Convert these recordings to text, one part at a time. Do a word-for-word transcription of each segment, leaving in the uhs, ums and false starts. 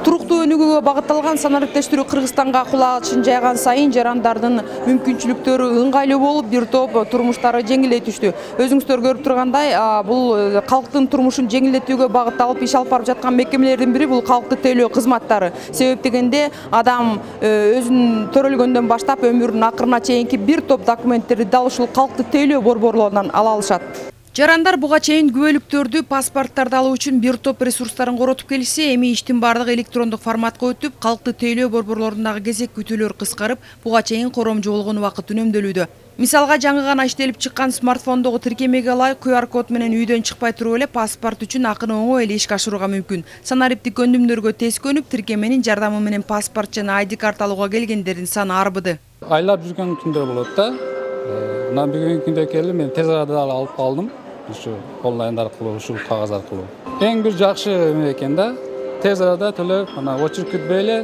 Туруктуу өнүгүүгө багытталган санариптештирүү Кыргызстанга кулачын жайган сайын жарандардын мүмкүнчүлүктөрү ыңгайлуу болуп, бир топ турмуштары жеңилдей түштү. Өзүңүздөр көрүп тургандай, бул калктын турмушун жеңилдетүүгө багытталып иш алып барып жаткан мекемелердин бири бул калкты тейлөө кызматтары. Себеп дегенде адам өзүнүн төрөлгөндөн баштап өмүрүнүн акырына чейинки бир топ документтерди дал ушул калкты тейлөө борборлорунан ала алышат. Жарандар буга чейин күбөлүктөрдү, паспорттарды алуу үчүн бир топ ресурстарын коротуп келишсе, эми иштин бардыгы электрондук форматка өтүп, калкты тейлөө борборлорундагы кезек күтүүлөр кыскарып, буга чейин коромжу болгон убакыт үнөмдөлүүдө. Мисалга, жаңы гана иштелип чыккан смартфондогу тиркемеге ылайык ку ар код менен үйдөн чыкпай туруп эле паспорт үчүн акыны оңой эле ишке ашырууга мүмкүн. Санариптик өндүмдөргө тез көнүп, тиркеменин жардамы менен паспорт жана ай ди карт алууга келгендердин саны арбыды. Айлап жүргөн күндө болот да. Мына бүгүнкү күндө келип, мен тез арада алып калдым. Ушу онлайн аркылуу, ушул кагаз аркылуу. Эң бир жакшы эме экен да. Тез арада төлөп, ана очередь күтпөй эле.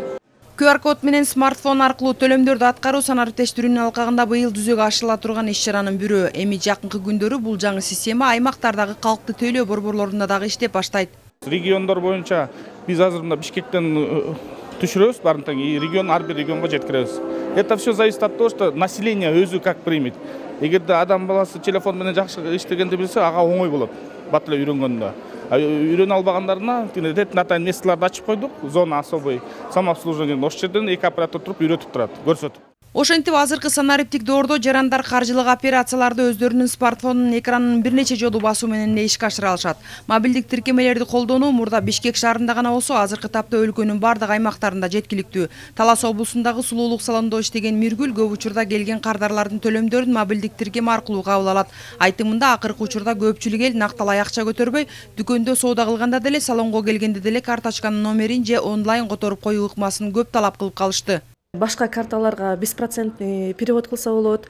ку ар код менен смартфон аркылуу төлөмдөрдү аткаруу санариптештирүүнүн алкагында быйыл жүзөгө ашырыла турган иш-чаранын бирөө. Эми жакынкы күндөрү бул жаңы система аймактардагы калкты тейлөө борборлорунда дагы иштеп баштайт. Региондор боюнча биз азыр мына Бишкектен түшүрөбүз, барын тең регион ар бир регионго жеткиребиз. Это все зависит от того, что население өзү как примет. Эгерде адам баласы телефон менен жакшы иштегенди билсе, ага оңой болот. Бат эле үйрөнгөндө. Үйрөнө албагандарына рет натайн месталарды ачып койдук, зона особый самообслуживание. Ошол жерден эки оператор туруп үйрөтүп турат, көрсөтүп. Ошентип азыркы санариптик доордо жарандар каржылык операцияларды өздөрүнүн смартфонунун экранын бир нече жолу басуу менен эле ишке ашыра алышат. Мобилдик тиркемелерди колдонуу мурда Бишкек шаарында гана болсо, азыркы тапта өлкөнүн бардык аймактарында жеткиликтүү. Талас облусундагы сулуулук салонунда иштеген Миргүл көп учурда келген кардарлардын төлөмдөрүн мобилдик тиркеме аркылуу кабыл алат. Айтымында акыркы учурда көпчүлүк эл накталай акча көтөрбөй, дүкөндө соода кылганда деле, салонго келгенде деле карточканын номерин же онлайн которуп коюу ыкмасын көп талап кылып калышты. Башка карталарга беспроцентный перевод кылса болот.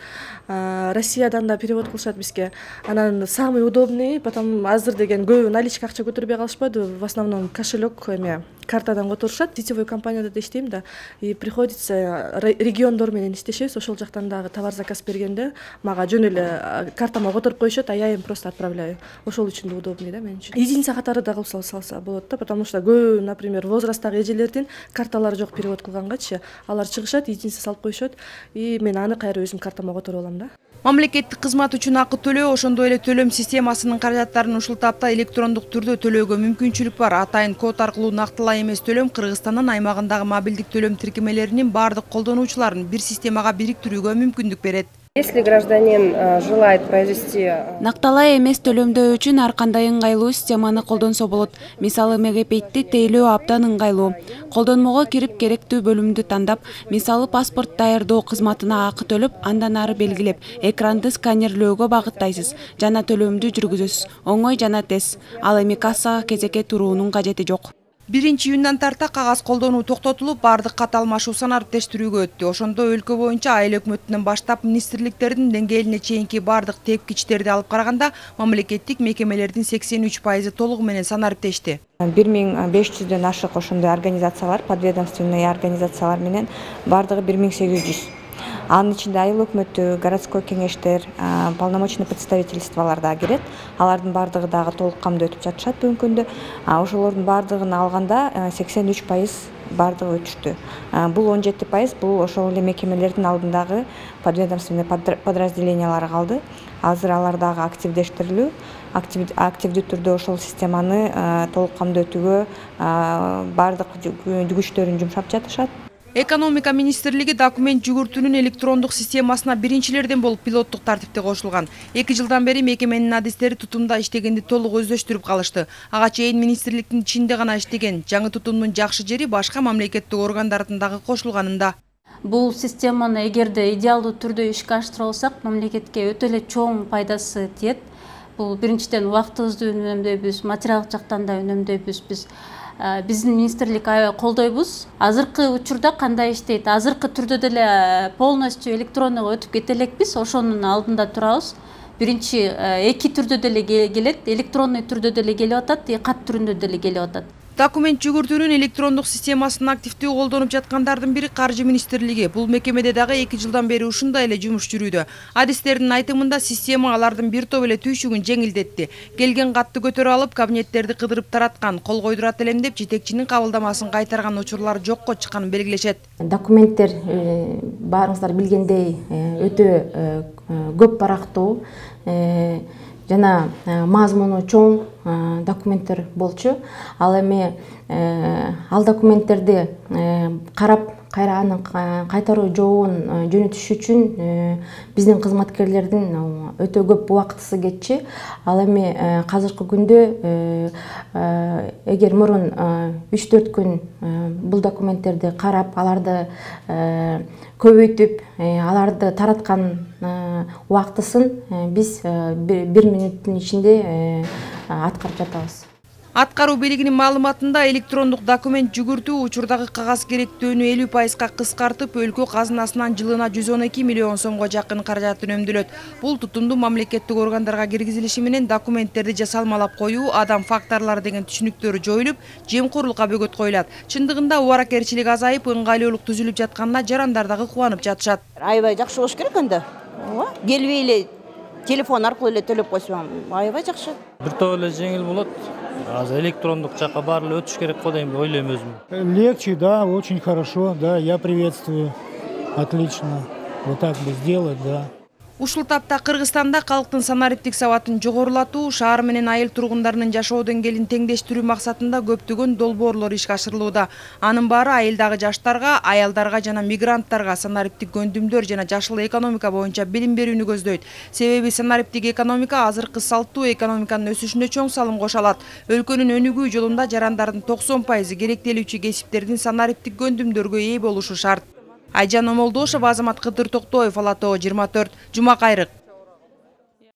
Россиядан да перевод кылышат бизге. Анан самый удобный, потому азыр деген көп наличка акча көтөрбөй калышпайдыбы. В основном кошелек эме картадан которушат. Сетевой компанияда да иштейм да. И приходится региондор менен иштешебиз. Ошол жактан дагы товар заказ бергенде мага жөн эле картама которуп коюшат, а я им просто отправляю. Ошол үчүн да удобный да мен үчүн. Единица катары да кылса салса болот да, потому что көп, например, возрасттагы эжелердин карталары жок перевод кылгангачы, алар чыгышат, единица салып коюшат, и мен аны кайра өзүм картама которуп алам да. Мамлекеттик кызмат үчүн акы төлөө, ошондой эле төлөм системасынын каражаттарын ушул тапта электрондук түрдө төлөөгө мүмкүнчүлүк бар. Атайын код аркылуу нактылай эмес төлөм Кыргызстандын аймагындагы мобилдик төлөм тиркемелеринин бардык колдонуучуларын бир системага бириктирүүгө мүмкүндүк берет. Если гражданин желает произвести накталай эмес төлөмдөө үчүн ар кандай ыңгайлуу системаны колдонсо болот. Мисалы, мегапейтти тейлөө абдан ыңгайлуу. Колдонмого кирип керектүү бөлүмдү тандап, мисалы паспорт даярдоо кызматына акы төлөп, андан ары белгилеп, экранды сканерлөөгө багыттайсыз жана төлөмдү жүргүзөсүз. Оңой жана тез. Ал эми кассага кезекке туруунун кажети жок. биринчи июндан тарта кагаз колдонуу токтотулуп, бардык кат алмашуу санариптештирүүгө өттү. Ошондо өлкө боюнча айыл өкмөтүнөн баштап министрликтердин деңгээлине чейинки бардык тепкичтерди алып караганда, мамлекеттик мекемелердин сексен үч пайызы толугу менен санариптешти. бир миң беш жүздөн ашык ошондой организациялар, подведомственный организациялар менен бардыгы бир миң сегиз жүз. Анын ичинде айыл өкмөтү, городской кеңештер, полномочный представительстволор да кирет. Алардын бардыгы дагы толук камдуу өтүп жатышат бүгүнкү күндө. Ошолордун бардыгын алганда сексен үч пайыз бардыгы өтүштү. Бул он жети пайыз бул ошол эле мекемелердин алдындагы подведомственный подразделениялар калды. Азыр алар дагы активдештирилүү, активдүү түрдө ошол системаны толук камдуу өтүүгө бардык күчтөрүн жумшап жатышат. Экономика министрлиги документ жүгүртүүнүн электрондук системасына биринчилерден болуп пилоттук тартипте кошулган. эки жылдан бери мекеменин адистери тутумда иштегенди толук өздөштүрүп калышты. Ага чейин министрликтин ичинде гана иштеген. Жаңы тутумдун жакшы жери башка мамлекеттик органдардын дагы кошулганында. Бул системаны эгерде идеалдуу түрдө ишке ашыра алсак, мамлекетке өтө эле чоң пайдасы тиет. Бул биринчиден убактыбызды үнөмдөйбүз, материалдык жактан да үнөмдөйбүз. Биз биздин министрлик аябай колдойбуз. Азыркы учурда кандай иштейт? Азыркы түрдө деле полностью электронного өтүп кете элекпиз, ошонун алдында турабыз. Биринчи эки түрдө деле келет, электронный түрдө деле келип атат, кат түрүндө деле келип атат. Документ жүгүртүүнүн электрондук системасын активдүү колдонуп жаткандардын бири Каржы министрлиги. Бул мекемеде дагы эки жылдан бери ушундай эле жумуш жүрүүдө. Адистердин айтымында система алардын бир топ эле түйшүгүн жеңилдетти. Келген катты көтөрүп алып, кабинеттерди кыдырып тараткан, кол койдурат элем деп жетекчинин кабылдамасын кайтарган учурлар жокко чыкканын белгилешет. Документтер баарыңыздар билгендей өтө көп барактуу жана мазмуну чоң документтер болчу. Ал эми ал документтерди карап кайра анын кайтаруу жообун жөнөтүш үчүн биздин кызматкерлердин өтө көп убактысы кетчи. Ал эми азыркы күндө эгер мурун үч төрт күн бул документтерди карап, аларды көбөйтүп, аларды тараткан убактысын биз бир мүнөттүн ичинде аткарып жатабыз. Аткаруу бийлигинин маалыматында электрондук документ жүгүртүү учурдагы кагаз керектөөнү элүү пайызга кыскартып, өлкө казынасынан жылына жүз он эки миллион сомго жакын каражат үнөмдөлөт. Бул тутумду мамлекеттик органдарга киргизилиши менен документтерди жасалмалап коюу, адам факторлору деген түшүнүктөр жоюлуп, жемкорлукка бөгөт коюлат. Чындыгында убаракерчилик азайып, ыңгайлуулук түзүлүп жатканына жарандар дагы кубанып жатышат. Аябай жакшы болуш керек анда. Келбей эле телефон аркылуу эле төлөп койсоң, аябай жакшы. Бир топ эле жеңил болот. Азыр электрондук жакка баары эле өтүш керек го деп ойлойм өзүм. Легче, да, очень хорошо, да, я приветствую. Отлично. Вот так бы сделать, да. Ушул тапта Кыргызстанда калктын санариптик сабатын жогорулатуу, шаар менен айыл тургундарынын жашоо деңгээлин теңдештирүү максатында көптөгөн долбоорлор ишке ашырылууда. Анын баары айылдагы жаштарга, аялдарга жана мигранттарга санариптик көндүмдөр жана жашыл экономика боюнча билим берүүнү көздөйт. Себеби санариптик экономика азыркы салттуу экономиканын өсүшүнө чоң салым кошо алат. Өлкөнүн өнүгүү жолунда жарандардын токсон пайызы керектелүүчү кесиптердин санариптик көндүмдөргө ээ болушу шарт. Айжан Омолдошова, Азамат Кыдыр Токтоев, Ала Тоо жыйырма төрт, Жума Кайрык.